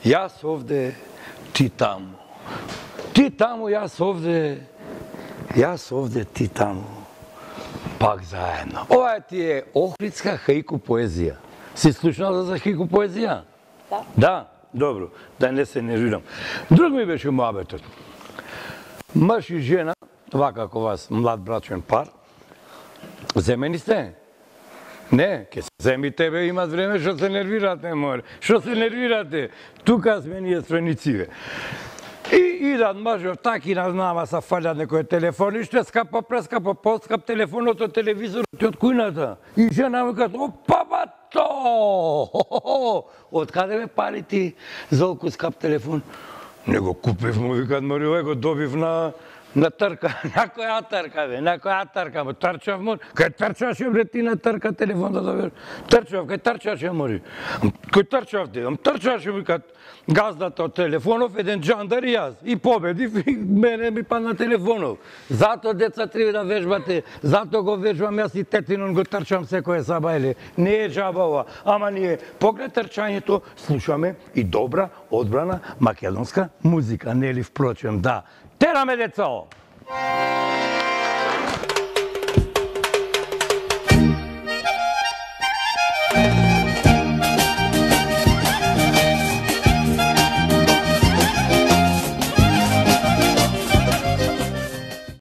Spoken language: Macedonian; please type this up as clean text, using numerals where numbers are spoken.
Јас овде, ти таму. Ти таму, јас овде, ти таму. Пак заедно. Ова ти е охридска хаику поезија. Си слушнала за хаику поезија? Да. Да? Добро. Да не се нервирам. Друг ми беше муабетот. Мъж и жена, вака како вас, млад брачен пар, земени сте? Не, ке се земи тебе, имат време, што се нервирате, море. Што се нервирате? Тука сме ние странициве. И идат мъжот, таки на нама са фалят некој телефон, и што скапо, прескапо, поскап телефонот од телевизорот од кујната. И жена му кажа, опа, бато! Од каде ме пали ти золку скап телефон? Не го купив, му викат, море, го добив на трка. На која трка, бе? На која трка? Трчав, море. Кај трчаше, бре, ти на трка телефон да добиш? Трчав, кај трчаше, море. Кој трчав ти? Трчаше, викат, газдата од телефонов, еден джандар и јас. И победив, и мене ми падна телефонов. Зато, деца, треба да вежбате. Зато го вежбам јас и тетинон го трчам секоја сабајле. Не е джаба ова. Ама ние, покрај трчањето, слушаме и добра, одбрана македонска музика. Нели, впрочем, да. Тераме, децо!